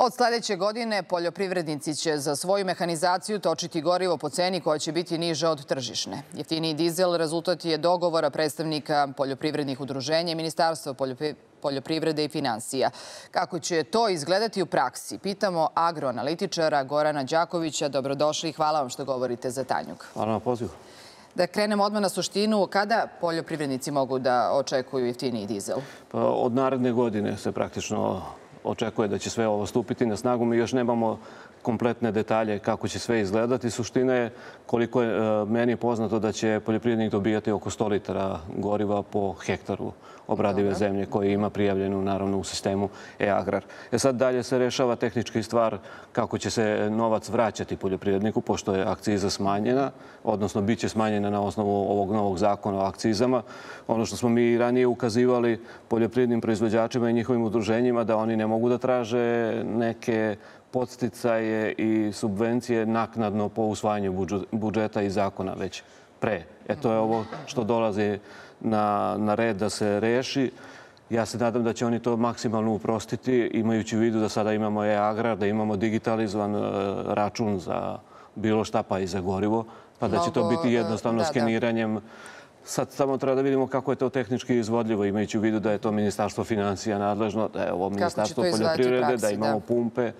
Od sljedeće godine poljoprivrednici će za svoju mehanizaciju točiti gorivo po ceni koja će biti niža od tržišne. Jeftiniji dizel rezultat je dogovora predstavnika poljoprivrednih udruženja i Ministarstva poljoprivrede i finansija. Kako će to izgledati u praksi? Pitamo agroanalitičara Gorana Đakovića. Dobrodošli i hvala vam što govorite za Tanjug. Hvala na pozivu. Da krenemo odmah na suštinu. Kada poljoprivrednici mogu da očekuju jeftiniji dizel? Pa od naredne godine se praktično očekuje da će sve ovo stupiti na snagu. Mi još nemamo kompletne detalje kako će sve izgledati. Suština je, koliko je meni poznato, da će poljoprivrednik dobijati oko 100 litara goriva po hektaru obradive zemlje koje ima prijavljenu naravno u sistemu e-agrar. Sad dalje se rešava tehnički stvar kako će se novac vraćati poljoprivredniku, pošto je akciza smanjena, odnosno bit će smanjena na osnovu ovog novog zakona o akcizama. Ono što smo mi ranije ukazivali poljoprivrednim proizvođačima i njihovim udruženjima, da oni ne mogu da traže neke podsticaje i subvencije naknadno po usvajanju budžeta i zakona već pre. To je ovo što dolazi na red da se reši. Ja se nadam da će oni to maksimalno uprostiti, imajući u vidu da sada imamo e-agrar, da imamo digitalizovan račun za bilo šta, pa i za gorivo, pa da će to biti jednostavno skeniranjem. Sad samo treba da vidimo kako je to tehnički izvodljivo, imajući u vidu da je to Ministarstvo finansija nadležno, da je ovo Ministarstvo poljoprivrede, da imamo pumpe.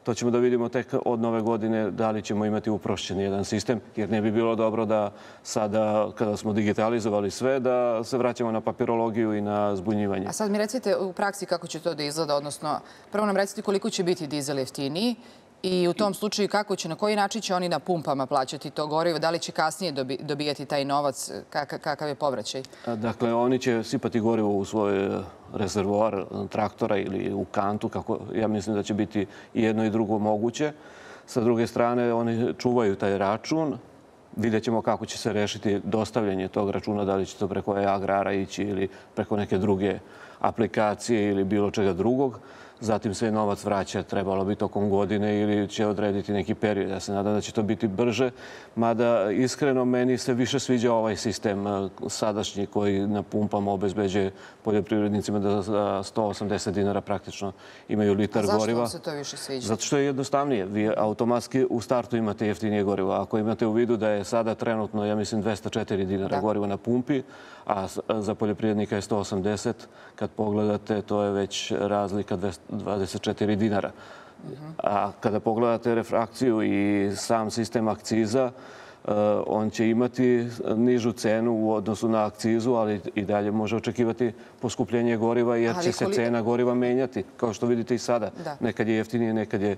To ćemo da vidimo tek od nove godine da li ćemo imati uprošćen jedan sistem, jer ne bi bilo dobro da sada, kada smo digitalizovali sve, da se vraćamo na papirologiju i na zbunjivanje. A sad mi recite u praksi kako će to da izgleda, odnosno prvo nam recite koliko će biti dizel jeftiniji i u tom slučaju na koji način će oni na pumpama plaćati to gorivo, da li će kasnije dobijati taj novac, kakav je povraćaj? Dakle, oni će sipati gorivo u svoj rezervoar traktora ili u kantu, kako ja mislim da će biti i jedno i drugo moguće. Sa druge strane, oni čuvaju taj račun. Vidjet ćemo kako će se rešiti dostavljanje tog računa, da li će to preko e-agrara ići ili preko neke druge aplikacije ili bilo čega drugog. Zatim se novac vraća, trebalo bi tokom godine ili će odrediti neki period. Ja se nadam da će to biti brže, mada iskreno meni se više sviđa ovaj sistem sadašnji koji na pumpama obezbeđuje poljoprivrednicima da za 180 dinara praktično imaju litar goriva. A zašto vam se to više sviđa? Zato što je jednostavnije. Vi automatski u startu imate jeftinije gorivo. Ako imate u vidu da je sada trenutno, ja mislim, 204 dinara goriva na pumpi, a za poljoprivrednika je 180, kad pogledate, to je već razlika 24 dinara. A kada pogledate refrakciju i sam sistem akciza, on će imati nižu cenu u odnosu na akcizu, ali i dalje može očekivati poskupljenje goriva jer će se cena goriva menjati, kao što vidite i sada. Nekad je jeftinije, nekad je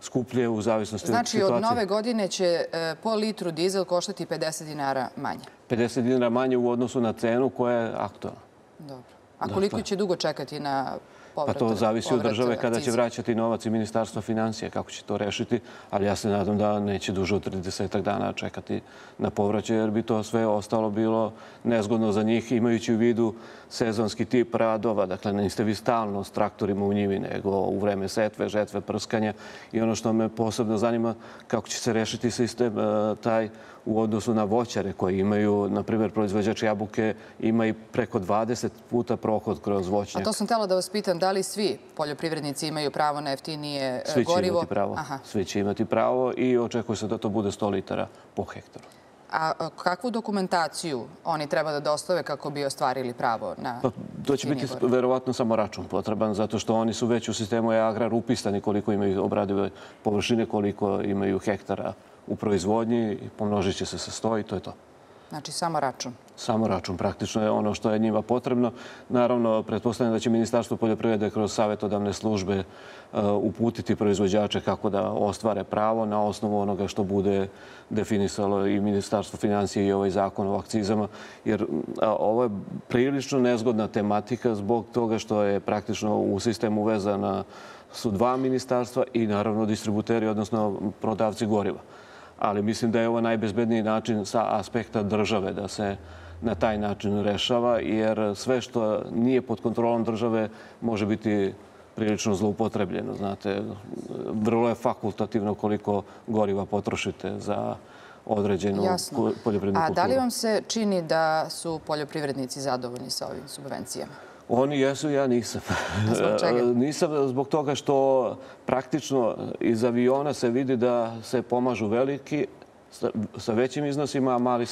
skuplje u zavisnosti od situacije. Znači, od nove godine će po litru dizel koštati 50 dinara manje? 50 dinara manje u odnosu na cenu koja je aktualna. Dobro. A koliko će dugo čekati na povrat akciza? Pa to zavisi od države kada će vraćati novac i Ministarstva finansija, kako će to rešiti, ali ja se nadam da neće duže od 30 dana čekati na povraćaj, jer bi to sve ostalo bilo nezgodno za njih, imajući u vidu sezonski tip radova. Dakle, niste vi stalno s traktorima u njivi, nego u vreme setve, žetve, prskanja. I ono što me posebno zanima, kako će se rešiti sistem taj u odnosu na voćare koji imaju, na primjer, proizvođač jabuke ima i preko 20 puta prohod kroz voćnjak. A to sam htjela da vas pitam, da li svi poljoprivrednici imaju pravo na jeftinije gorivo? Svi će imati pravo. Svi će imati pravo i očekuje se da to bude 100 litara po hektaru. A kakvu dokumentaciju oni treba da dostave kako bi ostvarili pravo na jeftinije gorivo? To će biti verovatno samo račun potreban, zato što oni su već u sistemu e-agrar upisani koliko imaju obradive površine, koliko imaju hektara u proizvodnji i pomnožit će se sa 100 i to je to. Znači, samo račun? Samo račun. Praktično je ono što je njima potrebno. Naravno, pretpostavljam da će Ministarstvo poljoprivrede kroz savjetodavne službe uputiti proizvođače kako da ostvare pravo na osnovu onoga što bude definisalo i Ministarstvo finansija i ovaj zakon o akcizama. Jer ovo je prilično nezgodna tematika zbog toga što je praktično u sistemu vezana su dva ministarstva i naravno distributeri, odnosno prodavci goriva. Ali mislim da je ovo najbezbedniji način sa aspekta države da se na taj način rešava, jer sve što nije pod kontrolom države može biti prilično zloupotrebljeno. Znate, vrlo je fakultativno koliko goriva potrošite za određenu poljoprivrednu kulturu. A da li vam se čini da su poljoprivrednici zadovoljni sa ovim subvencijama? Oni jesu, ja nisam. Zbog čega? Nisam zbog toga što praktično iz aviona se vidi da se pomažu veliki sa većim iznosima, a mali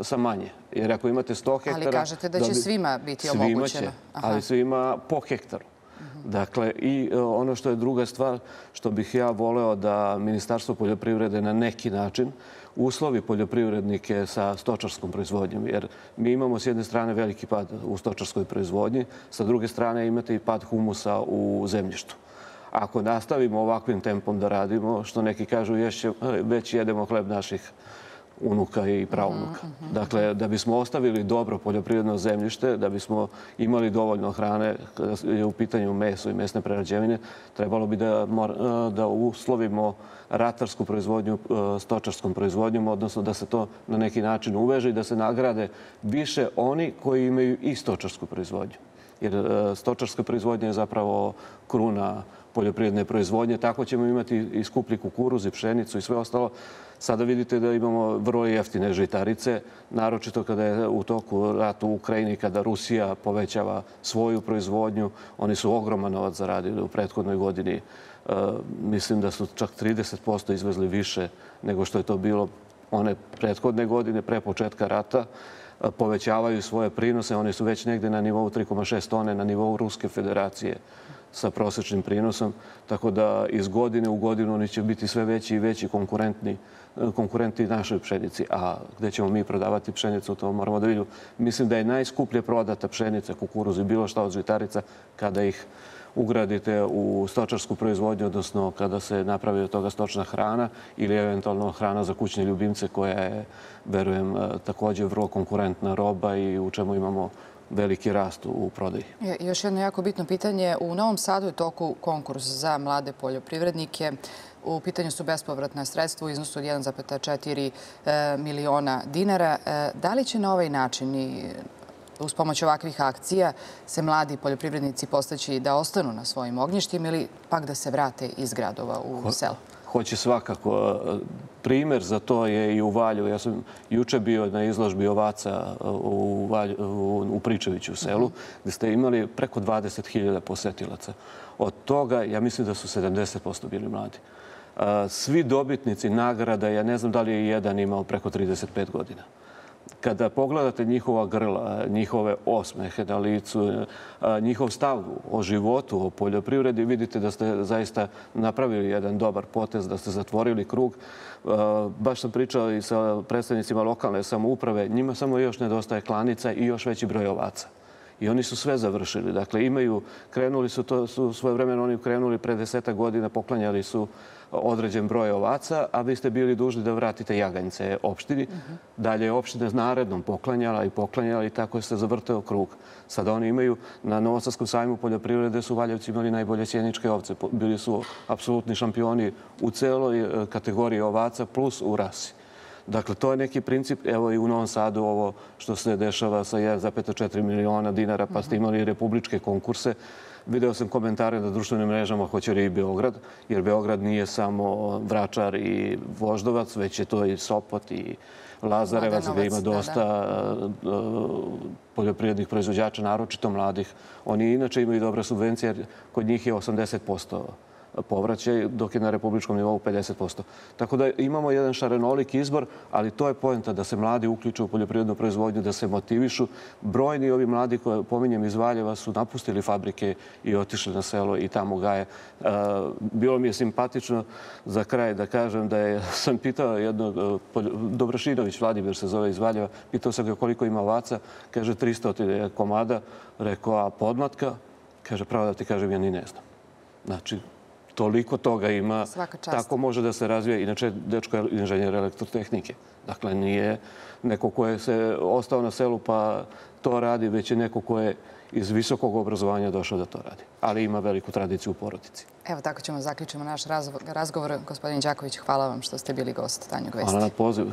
sa manje. Jer ako imate 100 hektara... Ali kažete da će svima biti omogućeno. Svima će, ali svima po hektaru. Dakle, i ono što je druga stvar, što bih ja voleo da Ministarstvo poljoprivrede na neki način uslovi poljoprivrednike sa stočarskom proizvodnjom. Jer mi imamo s jedne strane veliki pad u stočarskoj proizvodnji, sa druge strane imate i pad humusa u zemljištu. Ako nastavimo ovakvim tempom da radimo, što neki kažu, već jedemo hleb naših unuka i praunuka. Dakle, da bismo ostavili dobro poljoprivredno zemljište, da bismo imali dovoljno hrane kada je u pitanju meso i mesne prerađevine, trebalo bi da uslovimo ratarsku proizvodnju stočarskom proizvodnjom, odnosno da se to na neki način uveže i da se nagrade više oni koji imaju i stočarsku proizvodnju. Jer stočarska proizvodnja je zapravo kruna poljoprivredne proizvodnje. Tako ćemo imati i skuplji kukuruz i pšenicu i sve ostalo. Sada vidite da imamo vrlo jeftine žitarice, naročito kada je u toku rat u Ukrajini, kada Rusija povećava svoju proizvodnju. Oni su ogroman novac zaradili u prethodnoj godini. Mislim da su čak 30% izvezli više nego što je to bilo one prethodne godine, pre početka rata. Povećavaju svoje prinose. Oni su već negde na nivou 3,6 tone, na nivou Ruske federacije sa prosječnim prinosom. Tako da iz godine u godinu oni će biti sve veći i veći konkurenti našoj pšenici. A gde ćemo mi prodavati pšenicu, to moramo da vidimo. Mislim da je najskuplje prodata pšenica, kukuruz i bilo šta od žitarica kada ih ugradite u stočarsku proizvodnju, odnosno kada se napravi od toga stočna hrana ili eventualno hrana za kućne ljubimce koja je, verujem, također vrlo konkurentna roba i u čemu imamo veliki rast u prodaji. Još jedno jako bitno pitanje. U Novom Sadu je toku konkurs za mlade poljoprivrednike. U pitanju su bespovratna sredstva u iznosu od 1,4 miliona dinara. Da li će na ovaj način i uz pomoć ovakvih akcija se mladi poljoprivrednici postaći da ostanu na svojim ognjištima ili pak da se vrate iz gradova u selo? Hoće svakako. Primer za to je i u Valjevu. Ja sam juče bio na izložbi ovaca u Pričeviću u selu, gdje ste imali preko 20.000 posetilaca. Od toga, ja mislim da su 70% bili mladi. Svi dobitnici nagrada, ja ne znam da li je jedan imao preko 35 godina. Kada pogledate njihova grla, njihove osmehe na licu, njihov stav o životu, o poljoprivredi, vidite da ste zaista napravili jedan dobar potez, da ste zatvorili krug. Baš sam pričao i sa predstavnicima lokalne samouprave. Njima samo još nedostaje klanica i još veći broj ovaca. I oni su sve završili. Dakle, krenuli su, to su svojevremeno oni krenuli pre 10 godina, poklanjali su određen broj ovaca, a vi ste bili dužni da vratite jaganjce opštini. Dalje je opština narednom poklanjala i tako se zavrteo krug. Sada oni imaju, na Novosadskom sajmu poljoprivrede su Valjevci imali najbolje sjeničke ovce. Bili su apsolutni šampioni u celoj kategoriji ovaca plus u rasi. Dakle, to je neki princip. Evo i u Novom Sadu ovo što se dešava sa 1,4 miliona dinara, pa ste imali republičke konkurse. Video sam komentare na društvenim mrežama hoće li i Beograd, jer Beograd nije samo Vračar i Voždovac, već je to i Sopot i Lazarevac, gdje ima dosta poljoprivrednih proizvođača, naročito mladih. Oni inače imaju dobre subvencije, jer kod njih je 80% povraćaj, dok je na republičkom nivou 50%. Tako da imamo jedan šarenolik izbor, ali to je poenta da se mladi uključuju u poljoprivrednu proizvodnju, da se motivišu. Brojni ovi mladi koje pominjem iz Valjeva su napustili fabrike i otišli na selo i tamo gaje. Bilo mi je simpatično za kraj da kažem da sam pitao jednog, Dobrašinović, Vladimir se zove iz Valjeva, pitao sam ga koliko ima ovaca, kaže 300 komada, rekao, a podmlatka? Kaže, pravo da ti kažem, ja ni ne znam. Znači, toliko toga ima, tako može da se razvije. Inače, dečko je inženjer elektrotehnike. Dakle, nije neko ko je se ostao na selu pa to radi, već je neko ko je iz visokog obrazovanja došao da to radi. Ali ima veliku tradiciju u porodici. Evo, tako ćemo zaključiti naš razgovor. Gospodin Đaković, hvala vam što ste bili gost Tanjug Vesti. Hvala na pozivu.